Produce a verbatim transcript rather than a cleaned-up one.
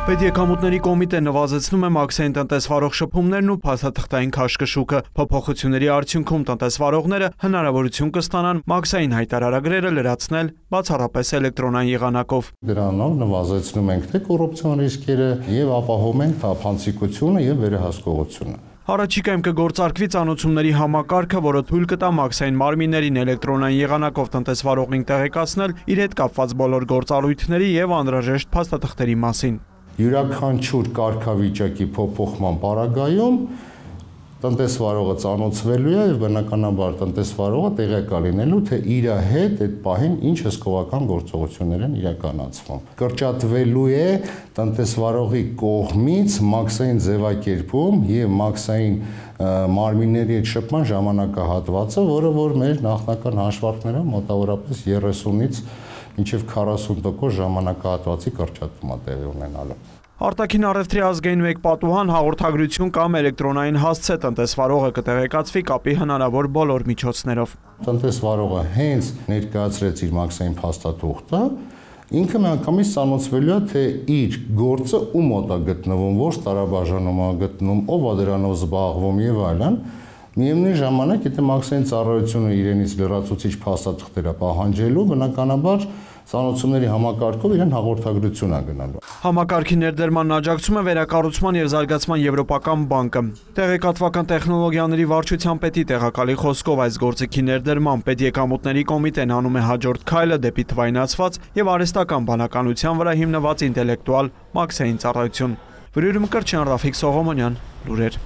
Պետեկամուտների կոմիտեն նվազեցնում է մաքսային տնտեսվարող շփումներն ու փաստաթղթային քաշքշուկը։ Փոփոխությունների արդյունքում տնտեսվարողները հնարավորություն կստանան մաքսային հայտարարագրերը լրացնել բացառապես էլեկտրոնային եղանակով։ Դրանով նվազեցնում ենք թե կոռուպցիոն ռիսկերը եւ ապահովում ենք թափանցիկությունը եւ վերահսկողությունը։ Առաջիկայում կգործարկվի ծանոթությունների համակարգը, որը թույլ կտա մաքսային մարմիններին էլեկտրոնային եղանակով տնտեսվարողին տեղեկացնել իր հետ կապված բոլոր գործառույթների եւ անհրաժեշտ փաստաթղթերի մասին։ Յուրաքանչյուր կարգավիճակի փոփոխման պարագայում տնտեսվարողը ծանոթվելու է եւ բնականաբար տնտեսվարողը տեղեկալ լինելու, թե իր հետ այդ պահին ինչ հսկողական գործողություններ են իրականացվում։ Կրճատվելու է տնտեսվարողի կողմից մաքսային ձևակերպում եւ մաքսային մարմինների հետ շփման ժամանակահատվածը, որը որ մեր նախնական հաշվարկներով մոտավորապես երեսունից մինչև քառասուն տոկոս ժամանակահատվածի կրճատում է տեղի ունենալու։ Արտաքին առևտրի ազգային մեկ պատուհան հաղորդագրություն կամ էլեկտրոնային հասցե տնտեսվարողը կտեղեկացվի կապի հնարավոր բոլոր միջոցներով։ Տնտեսվարողը հենց ներկայացրեց իր մաքսային փաստաթուղթը, ինքը միանգամից ծանոթվելու է, թե իր գործը ում մոտ է գտնվում, որ տարաբաժանում է գտնվում, ով է դրանով զբաղվում եւ այլն։ Միևնույն ժամանակ, եթե մաքսային ծառայությունը իրենից լրացուցիչ փաստաթղթեր է պահանջելու, բնականաբար ծանոթությունների համակարգով իրեն հաղորդագրություն է գնալու։ Համակարգի ներդրմանն աջակցում է վերակառուցման եւ զարգացման եվրոպական բանկը։ Տեղեկատվական տեխնոլոգիաների վարչության պետի տեղակալի խոսքով այս գործիքի ներդրման պետեկամուտների կոմիտեն անում է հաջորդ քայլը դեպի թվայնացված եւ արհեստական բանականության վրա հիմնված ինտելեկտուալ մաքսային ծառայություն։ Վրյուրում Կրչյան, Ռաֆիկ Սողոմոնյան, լուրեր։